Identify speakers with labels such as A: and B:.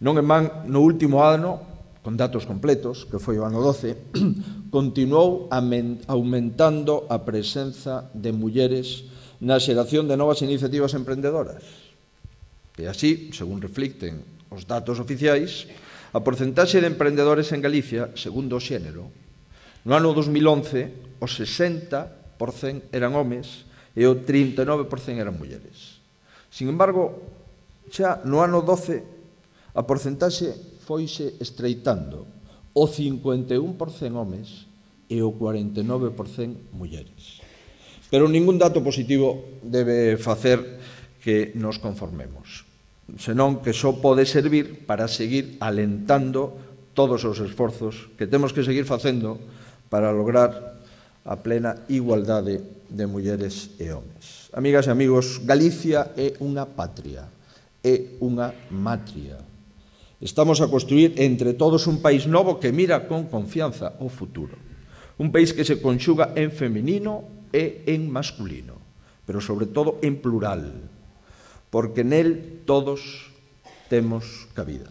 A: Non en van, no último ano, con datos completos, que foi o ano 12, continuou aumentando a presenza de mulleres na xeración de novas iniciativas emprendedoras. E así, según reflicten os datos oficiais, a porcentaxe de emprendedores en Galicia, segundo o xénero, no ano 2011, o 60% eran homes e o 39% eran mulleres. Sin embargo, xa no ano 12, a porcentaxe foise estreitando, o 51% homes e o 49% mulleres. Pero ningún dato positivo debe facer que nos conformemos, senón que só pode servir para seguir alentando todos os esforzos que temos que seguir facendo para lograr a plena igualdade de mulleres e homes. Amigas e amigos, Galicia é unha patria, é unha matria. Estamos a construir entre todos un país novo que mira con confianza ao futuro. Un país que se conxuga en feminino e en masculino, pero sobre todo en plural, porque nel todos temos cabida.